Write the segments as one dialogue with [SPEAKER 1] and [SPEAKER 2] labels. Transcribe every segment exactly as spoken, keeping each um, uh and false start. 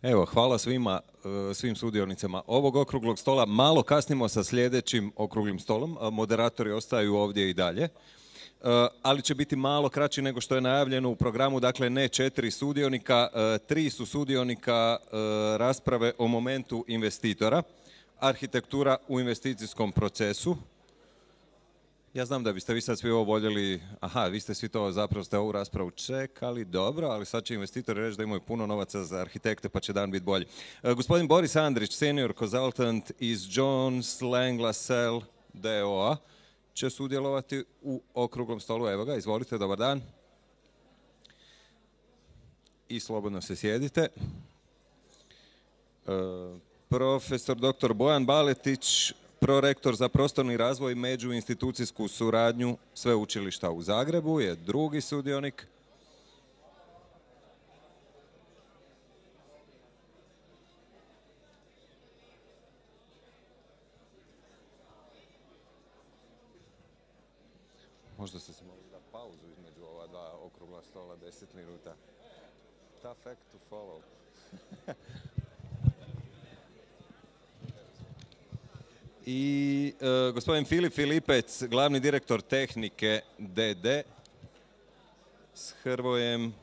[SPEAKER 1] Evo, hvala svima, svim sudionicama ovog okruglog stola. Malo kasnimo sa sljedećim okruglim stolom. Moderatori ostaju ovdje i dalje. Ali će biti malo kraći nego što je najavljeno u programu. Dakle, ne četiri sudionika, tri su sudionika rasprave o momentu investitora. Arhitektura u investicijskom procesu. Ja znam da biste vi sad svi ovo voljeli, aha, vi ste svi to zapravo ste ovu raspravu čekali, dobro, ali sad će investitori reći da imaju puno novaca za arhitekte pa će dan biti bolji. E, gospodin Boris Andrić, senior consultant iz Jones Lang LaSalle d o a će sudjelovati u okruglom stolu. Evo ga, izvolite, dobar dan. I slobodno se sjedite. E, profesor doktor Bojan Baletić, prorektor za prostorni razvoj i međuinstitucijsku suradnju Sveučilišta u Zagrebu, je drugi sudionik. Možda ste se mogli da pauzu između ova dva okrugla stola, deset minuta. Tough act to follow. I e, gospodin Filip Filipec, glavni direktor tehnike D D s Hrvojem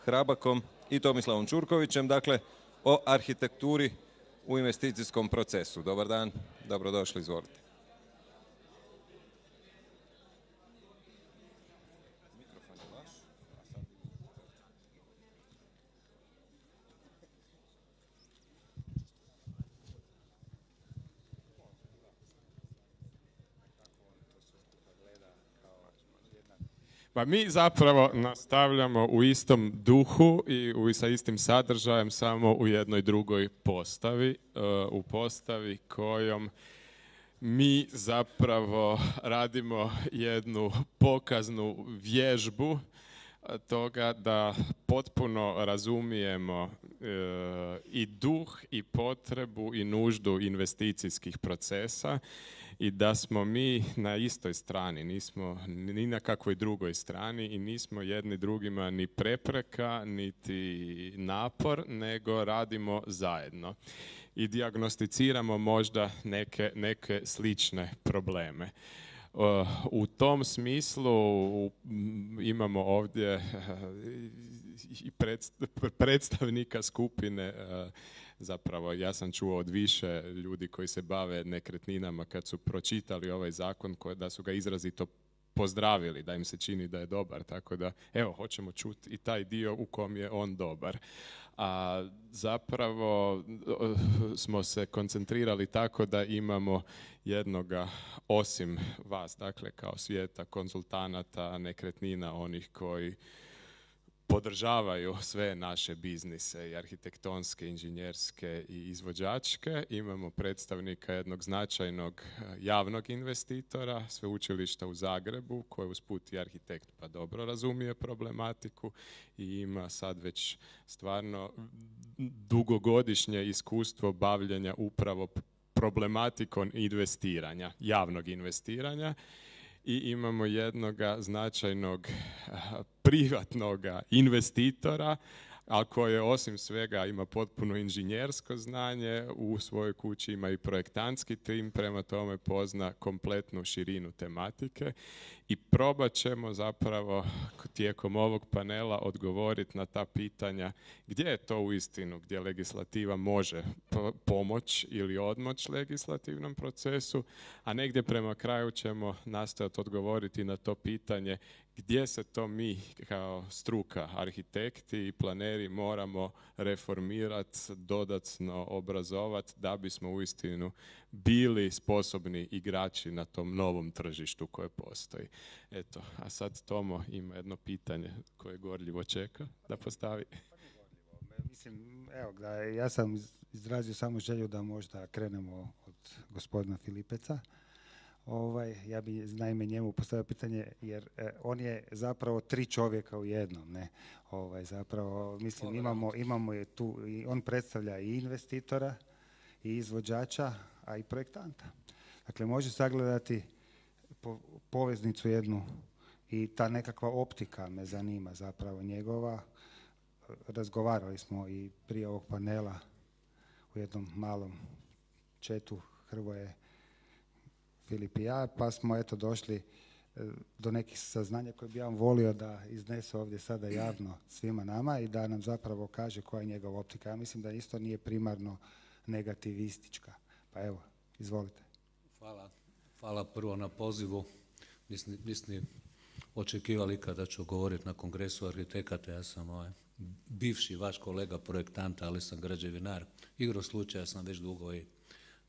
[SPEAKER 1] Hrabakom i Tomislavom Čurkovićem, dakle o arhitekturi u investicijskom procesu. Dobar dan, dobrodošli, izvolite.
[SPEAKER 2] Pa mi zapravo nastavljamo u istom duhu i u, sa istim sadržajem, samo u jednoj drugoj postavi, u postavi kojom mi zapravo radimo jednu pokaznu vježbu toga da potpuno razumijemo e, i duh i potrebu i nuždu investicijskih procesa i da smo mi na istoj strani, nismo ni na kakvoj drugoj strani i nismo jedni drugima ni prepreka, niti napor, nego radimo zajedno i dijagnosticiramo možda neke, neke slične probleme. U tom smislu imamo ovdje i predstavnika skupine, zapravo ja sam čuo od više ljudi koji se bave nekretninama kad su pročitali ovaj zakon, da su ga izrazito pozdravili, da im se čini da je dobar, tako da evo, hoćemo čuti i taj dio u kom je on dobar. A zapravo smo se koncentrirali tako da imamo jednoga, osim vas, dakle kao svijeta konzultanata nekretnina, onih koji podržavaju sve naše biznise i arhitektonske, inženjerske i izvođačke. Imamo predstavnika jednog značajnog javnog investitora, Sveučilišta u Zagrebu, koji usput i arhitekt pa dobro razumije problematiku i ima sad već stvarno dugogodišnje iskustvo bavljenja upravo problematikom investiranja, javnog investiranja. I imamo jednoga značajnog privatnog investitora, ali koji osim svega ima potpuno inženjersko znanje, u svojoj kući ima i projektantski tim, prema tome pozna kompletnu širinu tematike i probat ćemo zapravo tijekom ovog panela odgovoriti na ta pitanja gdje je to uistinu, gdje legislativa može pomoći ili odmoći legislativnom procesu, a negdje prema kraju ćemo nastojati odgovoriti na to pitanje gdje se to mi kao struka, arhitekti i planeri moramo reformirati, dodatno obrazovati da bismo uistinu bili sposobni igrači na tom novom tržištu koje postoji. Eto, a sad Tomo ima jedno pitanje koje gorljivo čeka da postavi.
[SPEAKER 3] Mislim, evo da ja sam izrazio samo želju da možda krenemo od gospodina Filipeca. Ovaj, ja bi naime njemu postavio pitanje jer eh, on je zapravo tri čovjeka u jednom, ne? Ovaj, zapravo, mislim, imamo, imamo je tu, i on predstavlja i investitora, i izvođača, a i projektanta. Dakle, može sagledati po, poveznicu jednu i ta nekakva optika me zanima zapravo njegova, razgovarali smo i prije ovog panela u jednom malom četu Hrvoje, Filip i ja, pa smo eto došli do nekih saznanja koje bi ja volio da iznese ovdje sada javno svima nama i da nam zapravo kaže koja je njegova optika. Ja mislim da isto nije primarno negativistička. Pa evo, izvolite.
[SPEAKER 4] Hvala. Hvala prvo na pozivu. Mislim, mislim očekivali kada ću govoriti na kongresu arhitekata. Ja sam ovaj, bivši vaš kolega projektanta, ali sam građevinar. Igro slučaja sam već dugo i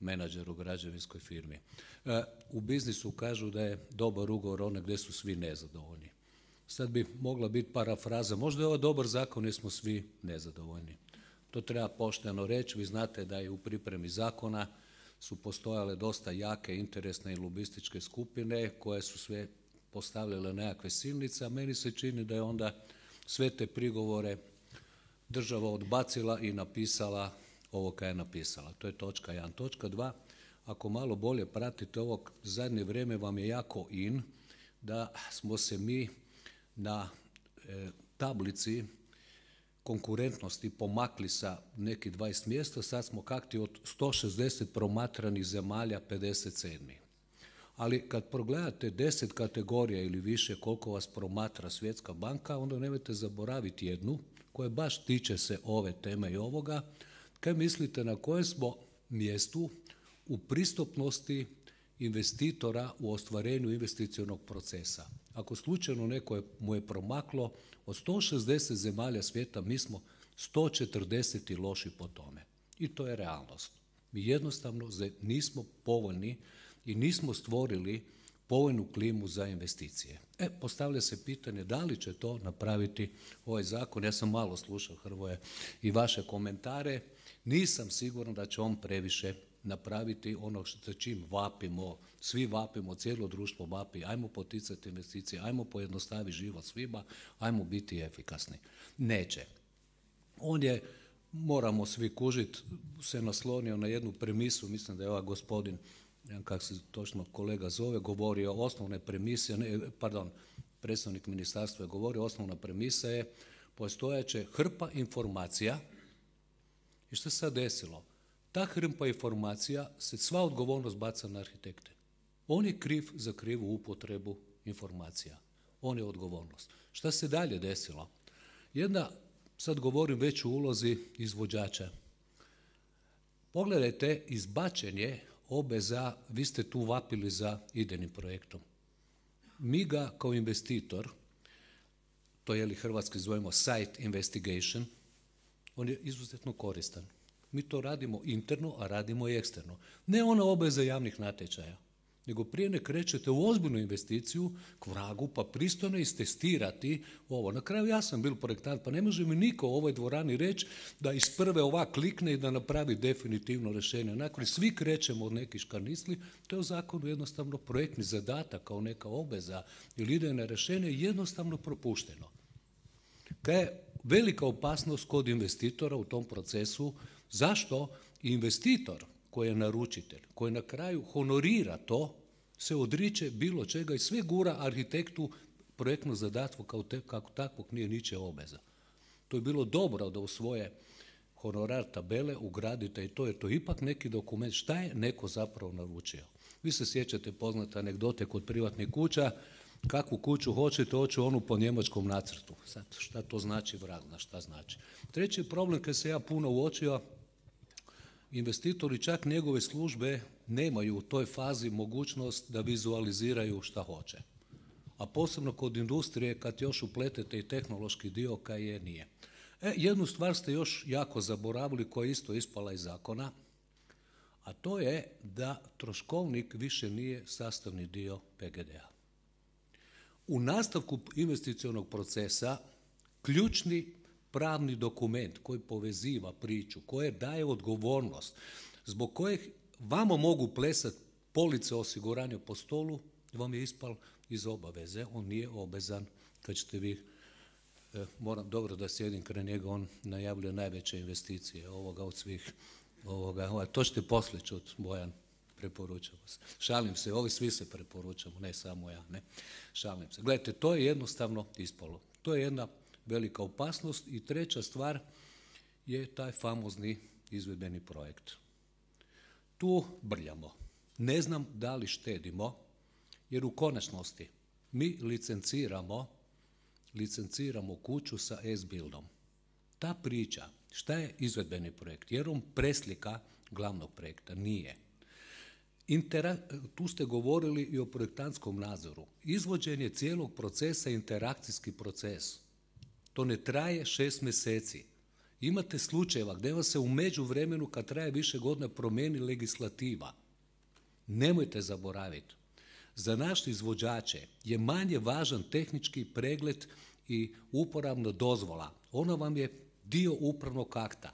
[SPEAKER 4] menadžer u građevinskoj firmi. E, u biznisu kažu da je dobar ugovor onaj gdje su svi nezadovoljni. Sad bi mogla biti parafraza, možda je ovo dobar zakon jer smo svi nezadovoljni. To treba pošteno reći. Vi znate da je u pripremi zakona su postojale dosta jake interesne i lobističke skupine koje su sve postavljale nekakve silnice, a meni se čini da je onda sve te prigovore država odbacila i napisala ovo kaj je napisala. To je točka jedan. Točka dva, ako malo bolje pratite ovog zadnje vrijeme vam je jako in da smo se mi na e, tablici konkurentnosti pomakli sa nekih dvadeset mjesta, sad smo kakti od sto šezdeset promatranih zemalja pedeset sedmi. Ali kad progledate deset kategorija ili više koliko vas promatra Svjetska banka, onda nemojte zaboraviti jednu koja baš tiče se ove teme i ovoga. Kaj mislite na kojem smo mjestu u pristupnosti investitora u ostvarenju investicionog procesa? Ako slučajno neko je, mu je promaklo, od sto šezdeset zemalja svijeta mi smo sto četrdeset loši po tome. I to je realnost. Mi jednostavno nismo povoljni i nismo stvorili povoljnu klimu za investicije. E, postavlja se pitanje da li će to napraviti ovaj zakon. Ja sam malo slušao, Hrvoje, i vaše komentare. Nisam siguran da će on previše napraviti ono što čim vapimo, svi vapimo, cijelo društvo vapi, ajmo poticati investicije, ajmo pojednostaviti život svima, ajmo biti efikasni. Neće. On je, moramo svi kužiti, se naslonio na jednu premisu, mislim da je ovaj gospodin, kako se točno kolega zove, govorio o osnovne premise, ne, pardon, predstavnik ministarstva je govorio, osnovna premisa je postojeće hrpa informacija. I što se sad desilo? Ta hrpa informacija se sva odgovornost baca na arhitekte. On je kriv za krivu upotrebu informacija. On je odgovornost. Šta se dalje desilo? Jedna, sad govorim već u ulozi izvođača. Pogledajte izbačenje obveza, vi ste tu vapili za idejnim projektom. Mi ga kao investitor, to je li hrvatski zovemo site investigation, on je izuzetno koristan. Mi to radimo interno, a radimo i eksterno. Ne ona obveza javnih natječaja, nego prije ne krećete u ozbiljnu investiciju k vragu, pa pristojno istestirati ovo. Na kraju ja sam bil projektant, pa ne može mi niko u ovoj dvorani reći da iz prve ovak klikne i da napravi definitivno rješenje. Nakon svi krećemo od nekih škarnisli, to je u zakonu jednostavno projektni zadatak kao neka obveza ili idejno rješenje jednostavno propušteno. Kaj je velika opasnost kod investitora u tom procesu? Zašto investitor koji je naručitelj, koji na kraju honorira to, se odriče bilo čega i sve gura arhitektu projektno zadatko kao te, kako takvog nije ničija obveza. To je bilo dobro da u svoje honorar tabele ugradite i to je to ipak neki dokument šta je neko zapravo naručio. Vi se sjećate poznate anegdote kod privatnih kuća, kakvu kuću hoćete, hoću onu po njemačkom nacrtu. Sad, šta to znači, vrag zna šta znači. Treći problem kad se ja puno uočio, investitori čak njegove službe nemaju u toj fazi mogućnost da vizualiziraju šta hoće. A posebno kod industrije kad još upletete i tehnološki dio kaj je nije. E, jednu stvar ste još jako zaboravili koja je isto ispala iz zakona, a to je da troškovnik više nije sastavni dio P G D-a. U nastavku investicionog procesa ključni pravni dokument koji poveziva priču, koje daje odgovornost, zbog kojeg vama mogu plesati police osiguranja po stolu, vam je ispal iz obaveze. On nije obvezan kad ćete vi, eh, moram dobro da sjedim kraj njega, on najavljuje najveće investicije ovoga od svih, ovoga, ovaj, to ćete poslije čuti, Bojan, preporučamo se. Šalim se, ovi svi se preporučamo, ne samo ja, ne, šalim se. Gledajte, to je jednostavno ispalo. To je jedna velika opasnost. I treća stvar je taj famozni izvedbeni projekt. Tu brljamo. Ne znam da li štedimo, jer u konačnosti mi licenciramo, licenciramo kuću sa S-Buildom. Ta priča, šta je izvedbeni projekt? Jer on preslika glavnog projekta, nije. Intera, tu ste govorili i o projektantskom nadzoru. Izvođenje cijelog procesa je interakcijski proces. To ne traje šest mjeseci. Imate slučajeva gdje vas se u međuvremenu, kad traje više godina, promijeni legislativa. Nemojte zaboraviti. Za naše izvođače je manje važan tehnički pregled i uporabna dozvola. Ona vam je dio upravnog akta.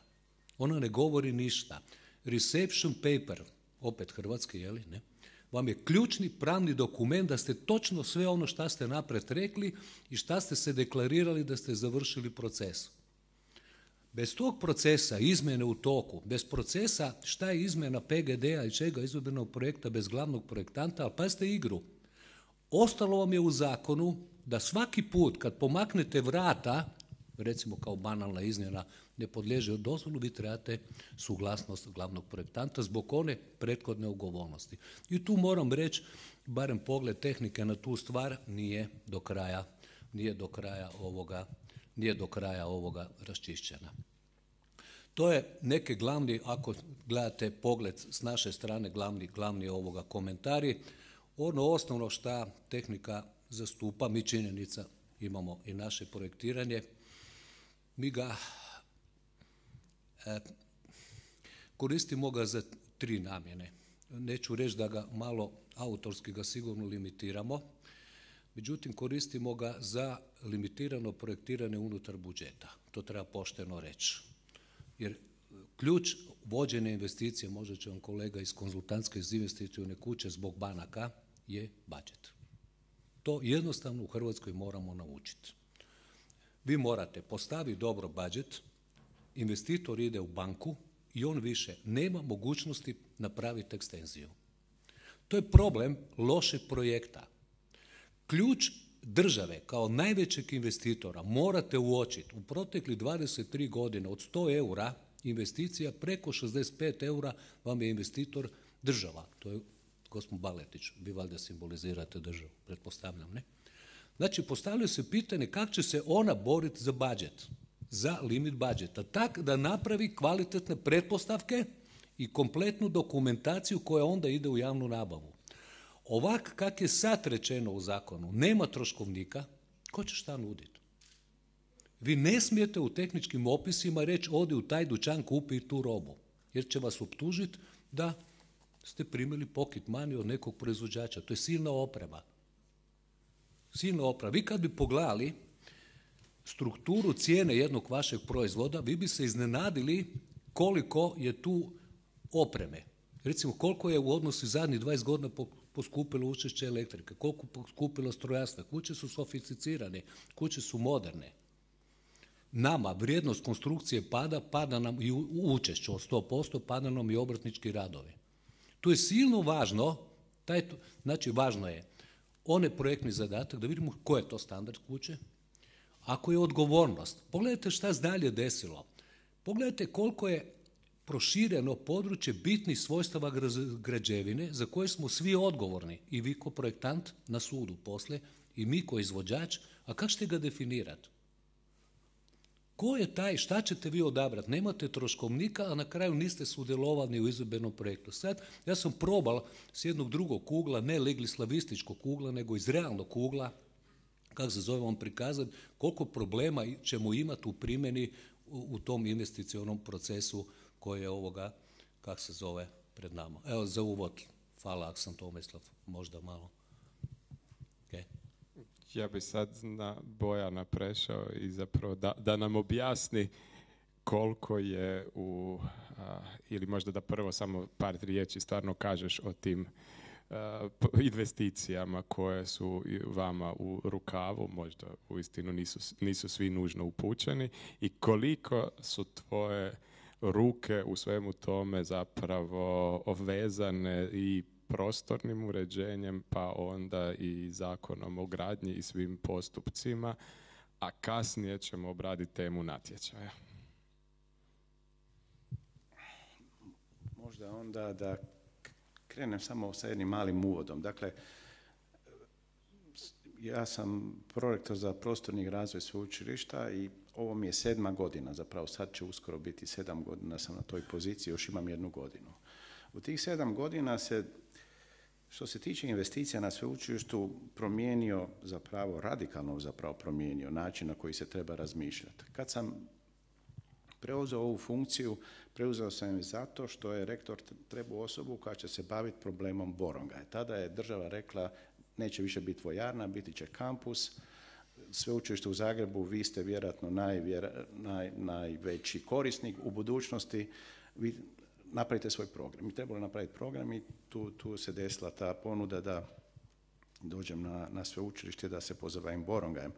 [SPEAKER 4] Ona ne govori ništa. Reception paper, opet hrvatski, jeli, ne? Vam je ključni pravni dokument da ste točno sve ono što ste napred rekli i šta ste se deklarirali da ste završili proces. Bez tog procesa, izmjene u toku, bez procesa šta je izmjena P G D-a i čega izvedbenog projekta bez glavnog projektanta, ali pazite igru. Ostalo vam je u zakonu da svaki put kad pomaknete vrata, recimo kao banalna izmjena, ne podliježe dozvolu, vi trebate suglasnost glavnog projektanta zbog one prethodne ugovornosti. I tu moram reći, barem pogled tehnike na tu stvar nije do kraja, nije do kraja ovoga, nije do kraja ovoga raščišćena. To je neki glavni, ako gledate pogled s naše strane, glavni, glavni ovoga komentari. Ono osnovno što tehnika zastupa, mi činjenica imamo i naše projektiranje, mi ga e, koristimo ga za tri namjene. Neću reći da ga malo autorski ga sigurno limitiramo, međutim koristimo ga za limitirano projektiranje unutar budžeta. To treba pošteno reći. Jer ključ vođenja investicije, možda će vam kolega iz konzultantske iz investicione kuće zbog banaka, je budžet. To jednostavno u Hrvatskoj moramo naučiti. Vi morate postaviti dobro budžet, investitor ide u banku i on više nema mogućnosti napraviti ekstenziju. To je problem lošeg projekta. Ključ države kao najvećeg investitora morate uočiti u proteklih dvadeset tri godine od sto eura investicija preko šezdeset pet eura vam je investitor država. To je gospodin Baletić, vi valjda simbolizirate državu, pretpostavljam, ne? Znači, postavljaju se pitanje kako će se ona boriti za budžet, za limit budžeta, tako da napravi kvalitetne pretpostavke i kompletnu dokumentaciju koja onda ide u javnu nabavu. Ovak kak je sad rečeno u zakonu, nema troškovnika, ko će šta nuditi? Vi ne smijete u tehničkim opisima reći odi u taj dućan, kupi tu robu, jer će vas optužiti da ste primili pocket money od nekog proizvođača. To je silna oprema. Silna oprema. Vi kad bi pogledali strukturu cijene jednog vašeg proizvoda, vi bi se iznenadili koliko je tu opreme. Recimo, koliko je u odnosu zadnjih dvadeset godina poskupilo učešće elektrike, koliko poskupilo strojarstva, kuće su sofisticirane, kuće su moderne. Nama vrijednost konstrukcije pada, pada nam i učešće od sto posto, pada nam i obrtnički radovi. Tu je silno važno, taj, znači važno je onaj projektni zadatak, da vidimo koji je to standard kuće, ako je odgovornost. Pogledajte šta se dalje desilo. Pogledajte koliko je prošireno područje bitnih svojstava građevine za koje smo svi odgovorni. I vi ko projektant na sudu poslije, i mi ko izvođač, a kako ćete ga definirati? Ko je taj, šta ćete vi odabrati? Nemate troškovnika, a na kraju niste sudjelovali u izvedbenom projektu. Sad, ja sam probal s jednog drugog ugla, ne legislavističkog ugla, nego iz realnog ugla, kako se zove vam prikazati, koliko problema ćemo imati u primjeni u, u tom investicionom procesu koji je ovoga, kako se zove, pred nama. Evo, za uvod, hvala Aksan Tomislav, možda malo. Okay.
[SPEAKER 2] Ja bi sad na Bojana prešao i zapravo da, da nam objasni koliko je u, a, ili možda da prvo samo par riječi stvarno kažeš o tim a, investicijama koje su vama u rukavu, možda uistinu nisu, nisu svi nužno upućeni, i koliko su tvoje ruke u svemu tome zapravo vezane i prostornim uređenjem, pa onda i zakonom o gradnji i svim postupcima, a kasnije ćemo obraditi temu natječaja.
[SPEAKER 5] Možda onda da krenem samo sa jednim malim uvodom. Dakle, ja sam prorektor za prostorni razvoj sveučilišta i ovo mi je sedma godina, zapravo sad će uskoro biti sedam godina sam na toj poziciji, još imam jednu godinu. U tih sedam godina se, što se tiče investicija na sveučilištu, promijenio zapravo, radikalno zapravo promijenio način na koji se treba razmišljati. Kad sam preuzeo ovu funkciju, preuzeo sam je zato što je rektor trebao osobu koja će se baviti problemom Borongaja. Tada je država rekla, neće više biti vojarna, biti će kampus. Sveučilište u Zagrebu, vi ste vjerojatno najvjera, naj, najveći korisnik u budućnosti, vi napravite svoj program. Mi trebalo napraviti program i tu, tu se desila ta ponuda da dođem na, na sveučilište da se pozabavim Borongajem.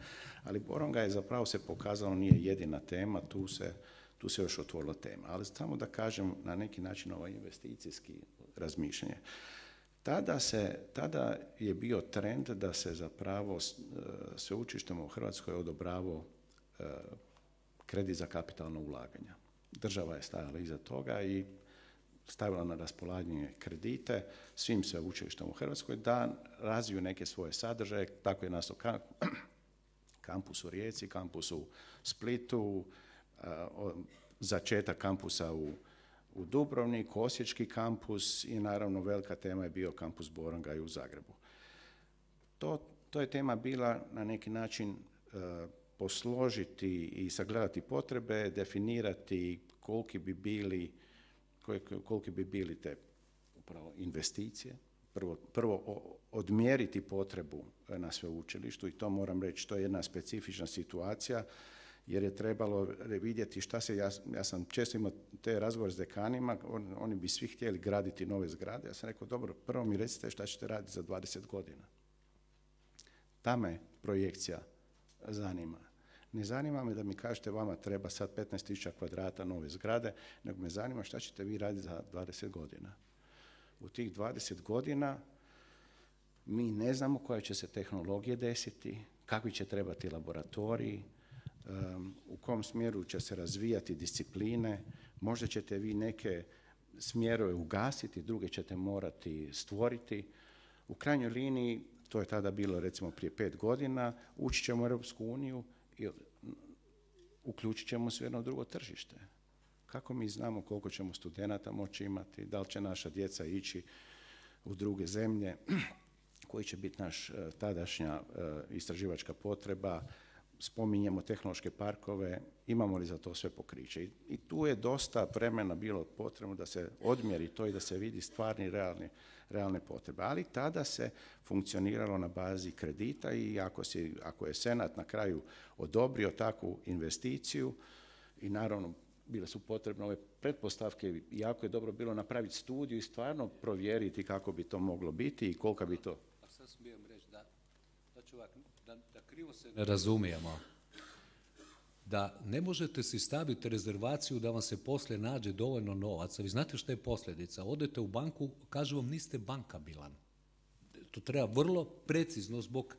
[SPEAKER 5] Ali Borongaj zapravo se pokazalo nije jedina tema, tu se, tu se još otvorila tema. Ali samo da kažem na neki način ovaj investicijski razmišljanje. Tada, se, tada je bio trend da se zapravo sveučilištima u Hrvatskoj odobravao kredit za kapitalno ulaganja. Država je stajala iza toga i stavila na raspolaganje kredite svim sveučilištima u Hrvatskoj da razviju neke svoje sadržaje. Tako je nastao kampus u Rijeci, kampus u Splitu, začetak kampusa u u Dubrovniku, Osječki kampus i naravno velika tema je bio kampus Borongaj u Zagrebu. To, to je tema bila na neki način e, posložiti i sagledati potrebe, definirati koliki bi bili, koliki bi bili te upravo investicije, prvo, prvo odmjeriti potrebu na sveučilištu i to moram reći, to je jedna specifična situacija jer je trebalo vidjeti šta se, ja, ja sam često imao te razgovore s dekanima, on, oni bi svi htjeli graditi nove zgrade, ja sam rekao, dobro, prvo mi recite šta ćete raditi za dvadeset godina. Ta me projekcija zanima. Ne zanima me da mi kažete vama treba sad petnaest tisuća kvadrata nove zgrade, nego me zanima šta ćete vi raditi za dvadeset godina. U tih dvadeset godina mi ne znamo koje će se tehnologije desiti, kakvi će trebati laboratoriji, Um, u kom smjeru će se razvijati discipline, možda ćete vi neke smjerove ugasiti, druge ćete morati stvoriti. U krajnjoj liniji, to je tada bilo recimo prije pet godina, ući ćemo u Europsku uniju i uključit ćemo se u jedno drugo tržište. Kako mi znamo koliko ćemo studenata moći imati, da li će naša djeca ići u druge zemlje, koji će biti naš tadašnja istraživačka potreba, spominjemo tehnološke parkove, imamo li za to sve pokriće. I tu je dosta vremena bilo potrebno da se odmjeri to i da se vidi stvarni, realni, realne potrebe. Ali tada se funkcioniralo na bazi kredita i ako, si, ako je Senat na kraju odobrio takvu investiciju i naravno bile su potrebne ove pretpostavke, jako je dobro bilo napraviti studiju i stvarno provjeriti kako bi to moglo biti i kolika bi to...
[SPEAKER 4] A sad smijem reći da, da ću ovak, da, da krivo se ne razumijemo, da ne možete si staviti rezervaciju da vam se poslije nađe dovoljno novaca. Vi znate što je posljedica. Odete u banku, kažu vam niste bankabilan. To treba vrlo precizno zbog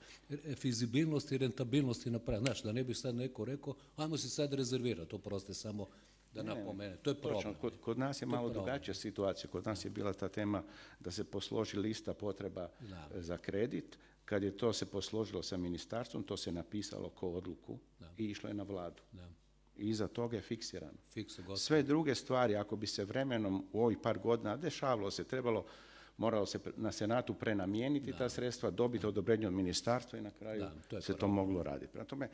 [SPEAKER 4] fizibilnosti i rentabilnosti napraviti. Znaš, da ne bi sad neko rekao, ajmo se sad rezervirati, oproste samo da napomene. To je problem.
[SPEAKER 5] Točno, kod, kod nas je malo drugačija situacija. Kod nas je bila ta tema da se posloži lista potreba da. za kredit. Kad je to se posložilo sa ministarstvom, to se napisalo kao odluku da. i išlo je na vladu. Da. I iza toga je fiksirano.
[SPEAKER 4] Fikse,
[SPEAKER 5] Sve druge stvari, ako bi se vremenom u ovih par godina dešavalo se, trebalo, moralo se na Senatu prenamijeniti da. ta sredstva, dobiti odobrenje od ministarstva i na kraju da, to se to moglo raditi. Prema tome,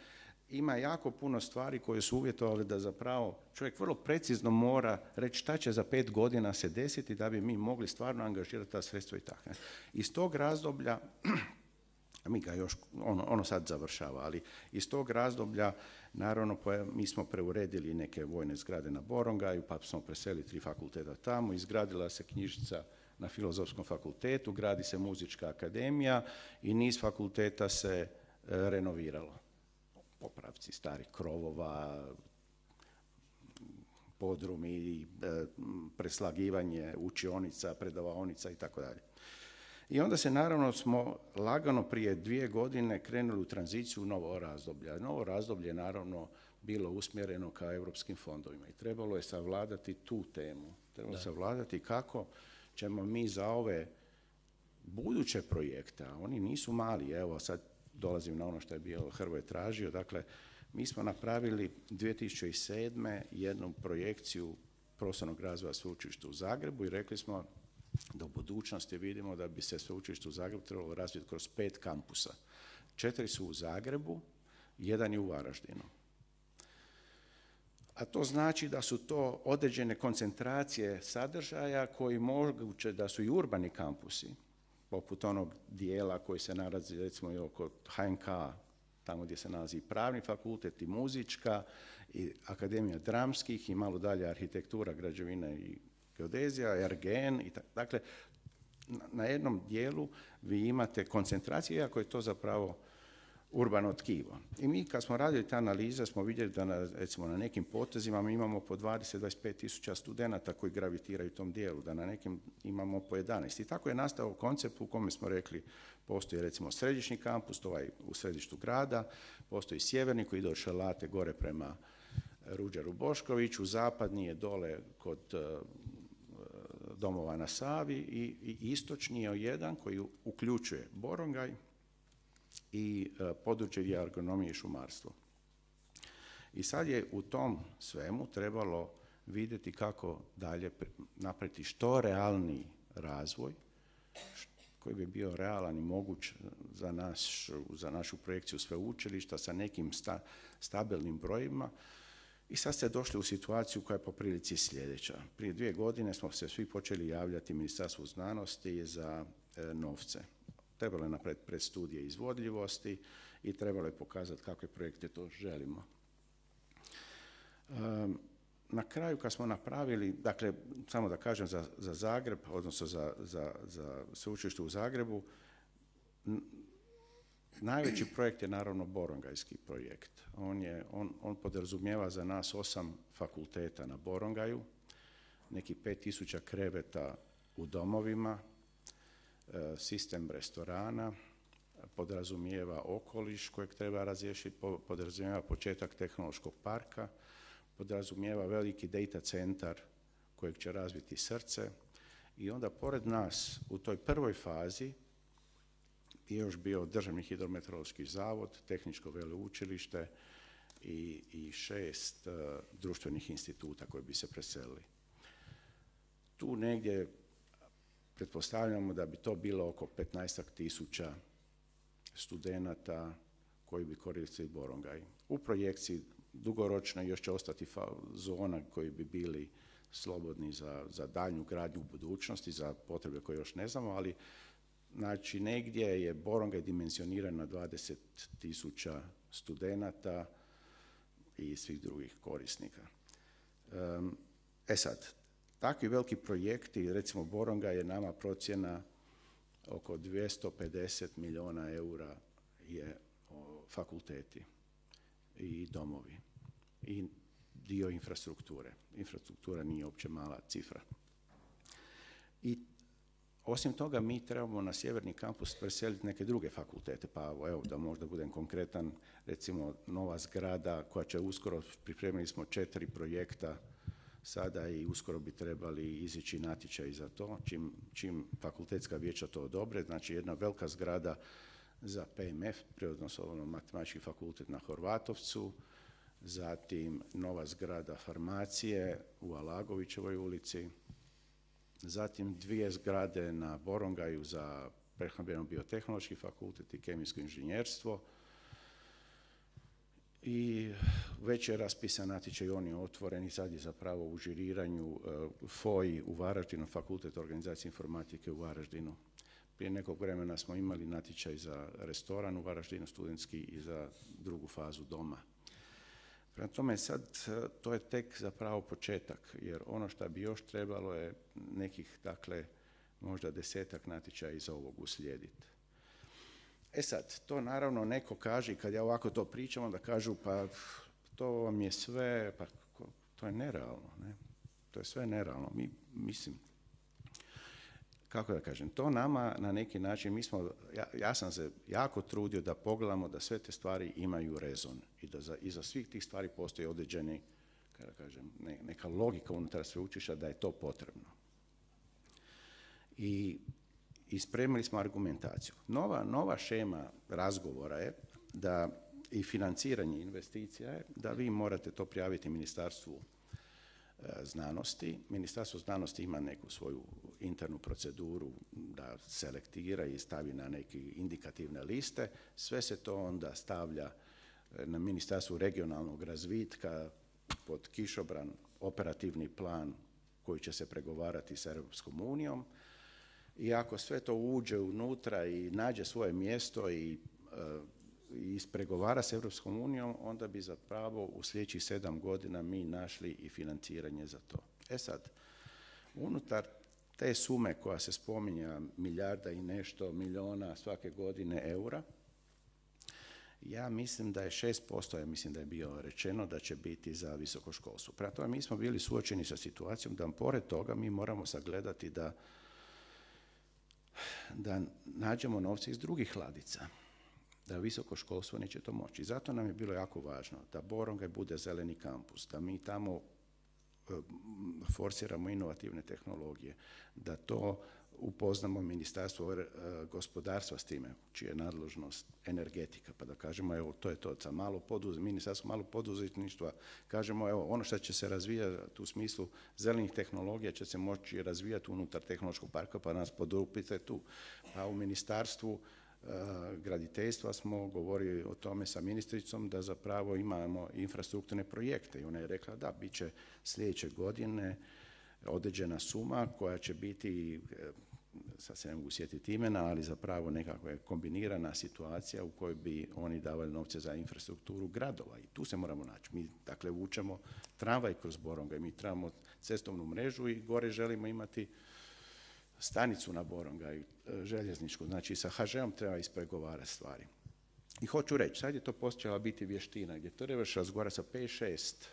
[SPEAKER 5] ima jako puno stvari koje su uvjetovali da zapravo čovjek vrlo precizno mora reći šta će za pet godina se desiti da bi mi mogli stvarno angažirati ta sredstva i tako. Iz tog razdoblja, mi ga još, ono, ono sad završava, ali iz tog razdoblja, naravno, mi smo preuredili neke vojne zgrade na Borongaju, pa smo preselili tri fakulteta tamo, izgradila se knjižnica na Filozofskom fakultetu, gradi se muzička akademija i niz fakulteta se e, renoviralo. Popravci starih krovova, podrumi, e, preslagivanje učionica, predavaonica i tako dalje. I onda se naravno smo lagano prije dvije godine krenuli u tranziciju u novo razdoblje. Novo razdoblje je naravno bilo usmjereno ka europskim fondovima i trebalo je savladati tu temu. Trebalo je savladati kako ćemo mi za ove buduće projekte, a oni nisu mali, evo sad dolazim na ono što je bio Hrvoje tražio, dakle mi smo napravili dvije tisuće sedme jednu projekciju prostornog razvoja sveučilišta u Zagrebu i rekli smo da u budućnosti vidimo da bi se sveučilište u Zagrebu trebalo razviti kroz pet kampusa. Četiri su u Zagrebu, jedan je u Varaždinu. A to znači da su to određene koncentracije sadržaja koji moguće da su i urbani kampusi, poput onog dijela koji se nalazi recimo i oko H N K, tamo gdje se nalazi i pravni fakultet i muzička i Akademija dramskih i malo dalje arhitektura, građevina i geodezija, R G N. I dakle, na jednom dijelu vi imate koncentracije, iako je to zapravo urbano tkivo. I mi kad smo radili te analize smo vidjeli da na, recimo na nekim potezima mi imamo po dvadeset do dvadeset pet tisuća studenata koji gravitiraju u tom dijelu, da na nekim imamo po jedanaest. I tako je nastao koncept u kome smo rekli postoji recimo središnji kampus, to ovaj u središtu grada, postoji sjeverni koji ide od Šalate gore prema Ruđeru Boškoviću, zapadni je dole kod uh, domova na Savi i, i istočni je jedan koji uključuje Borongaj i uh, područje agronomije i šumarstvo. I sad je u tom svemu trebalo vidjeti kako dalje napraviti što realniji razvoj, koji bi bio realan i moguć za, naš, za našu projekciju sveučilišta sa nekim sta, stabilnim brojima. I sad ste došli u situaciju koja je po prilici sljedeća. Prije dvije godine smo se svi počeli javljati Ministarstvu znanosti za e, novce. Trebalo je napraviti predstudije izvodljivosti i trebalo je pokazati kakve projekte to želimo. Um, na kraju kad smo napravili, dakle, samo da kažem za, za Zagreb, odnosno za, za, za sveučilište u Zagrebu, n- najveći projekt je naravno Borongajski projekt. On, je, on, on podrazumijeva za nas osam fakulteta na Borongaju, neki pet tisuća kreveta u domovima, e, sistem restorana, podrazumijeva okoliš kojeg treba razriješiti, podrazumijeva početak tehnološkog parka, podrazumijeva veliki data centar kojeg će razviti srce i onda pored nas u toj prvoj fazi je još bio Državni hidrometeorološki zavod, Tehničko veleučilište i, i šest uh, društvenih instituta koji bi se preselili. Tu negdje pretpostavljamo da bi to bilo oko petnaestak tisuća studenata koji bi koristili Borongaj. U projekciji dugoročno još će ostati zona koji bi bili slobodni za, za daljnju gradnju u budućnosti, za potrebe koje još ne znamo, ali znači negdje je Borongaj dimensioniran na dvadeset tisuća studenata i svih drugih korisnika. Um, e sad, takvi veliki projekti, recimo Borongaj je nama procjena oko dvjesto pedeset milijuna eura je o, fakulteti i domovi i dio infrastrukture. Infrastruktura nije uopće mala cifra. I osim toga mi trebamo na sjeverni kampus preseliti neke druge fakultete, pa evo da možda budem konkretan, recimo nova zgrada koja će uskoro, pripremili smo četiri projekta sada i uskoro bi trebali izići natječaj za to, čim, čim fakultetska vijeća to odobre, znači jedna velika zgrada za P M F, Prirodno-matematički fakultet na Horvatovcu, zatim nova zgrada farmacije u Alagovićevoj ulici, zatim dvije zgrade na Borongaju za prehrambeno-biotehnološki fakultet i kemijsko inženjerstvo i već je raspisan natječaj, on je otvoren i sad je zapravo u žiriranju uh, F O I u Varaždinu, Fakultet organizacije informatike u Varaždinu. Prije nekog vremena smo imali natječaj za restoran u Varaždinu studentski i za drugu fazu doma. Prema tome sad to je tek zapravo početak, jer ono što bi još trebalo je nekih, dakle, možda desetak natječaja iza ovog uslijediti. E sad, to naravno neko kaže, kad ja ovako to pričam, onda kažu pa to vam je sve, pa to je nerealno, ne? To je sve nerealno. Mi, mislim, kako da kažem, to nama na neki način, mi smo, ja, ja sam se jako trudio da pogledamo da sve te stvari imaju rezon i da za, iza svih tih stvari postoji određeni, kako da kažem, ne, neka logika unutar sveučilišta da je to potrebno. I, i spremili smo argumentaciju. Nova, nova šema razgovora je da i financiranje investicija je da vi morate to prijaviti Ministarstvu znanosti. Ministarstvo znanosti ima neku svoju internu proceduru da selektira i stavi na neke indikativne liste. Sve se to onda stavlja na Ministarstvu regionalnog razvitka pod kišobran operativni plan koji će se pregovarati sa Europskom unijom. I ako sve to uđe unutra i nađe svoje mjesto i i ispregovara s Europskom unijom, onda bi zapravo u sljedećih sedam godina mi našli i financiranje za to. E sad, unutar te sume koja se spominja, milijarda i nešto milijuna svake godine eura, ja mislim da je šest posto, ja mislim da je bilo rečeno da će biti za visoko školstvo. Prema tome, mi smo bili suočeni sa situacijom da pored toga mi moramo sagledati da, da nađemo novce iz drugih ladica, da visoko školstvo neće to moći. Zato nam je bilo jako važno da Borongaj bude zeleni kampus, da mi tamo forsiramo inovativne tehnologije, da to upoznamo Ministarstvo gospodarstva s time, čija je nadležnost energetika, pa da kažemo, evo, to je to, za malo poduz, Ministarstvo malo poduzetništva, kažemo, evo, ono što će se razvijati u smislu zelenih tehnologija će se moći razvijati unutar tehnološkog parka, pa nas podupite tu. A u Ministarstvu graditeljstva smo govorili o tome sa ministricom da zapravo imamo infrastrukturne projekte i ona je rekla da bit će sljedeće godine određena suma koja će biti, sad se ne mogu sjetiti imena, ali zapravo nekakva kombinirana situacija u kojoj bi oni davali novce za infrastrukturu gradova i tu se moramo naći. Mi dakle vučemo tramvaj kroz Borongaj, mi trebamo cestovnu mrežu i gore želimo imati stanicu na Borongaju, željezničku, znači sa ha žeom treba ispregovarati stvari. I hoću reći, sad je to počela biti vještina, gdje trebaš razgovarati sa pet šest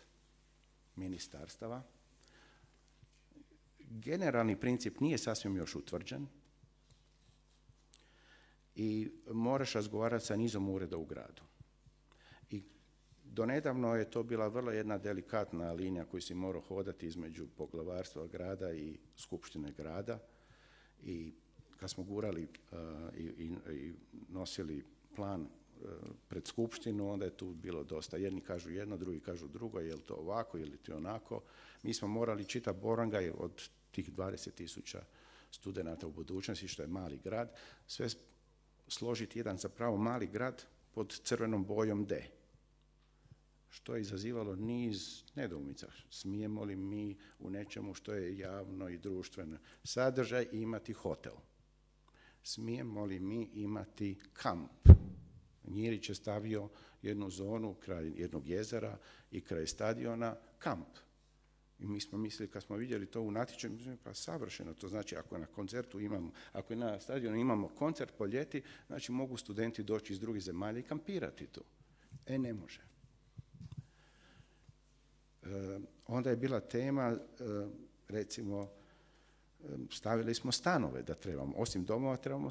[SPEAKER 5] ministarstava. Generalni princip nije sasvim još utvrđen i moraš razgovarati sa nizom ureda u gradu. I donedavno je to bila vrlo jedna delikatna linija koju si morao hodati između poglavarstva grada i skupštine grada. I kad smo gurali uh, i, i, i nosili plan uh, pred skupštinu, onda je tu bilo dosta. Jedni kažu jedno, drugi kažu drugo, je li to ovako ili to onako. Mi smo morali čitati Borongaj od tih dvadeset tisuća studenata u budućnosti, što je mali grad, sve složiti jedan zapravo mali grad pod crvenom bojom D. Što je izazivalo niz nedoumica. Smijemo li mi u nečemu što je javno i društveno sadržaj imati hotel? Smijemo li mi imati kamp? Njirić je stavio jednu zonu kraj jednog jezera i kraj stadiona kamp. I mi smo mislili, kad smo vidjeli to u natječaju, mislili, pa savršeno, to znači ako na koncertu imamo, ako na stadionu imamo koncert po ljeti, znači mogu studenti doći iz drugih zemalja i kampirati tu. E, ne može. E, onda je bila tema, e, recimo, stavili smo stanove da trebamo, osim domova trebamo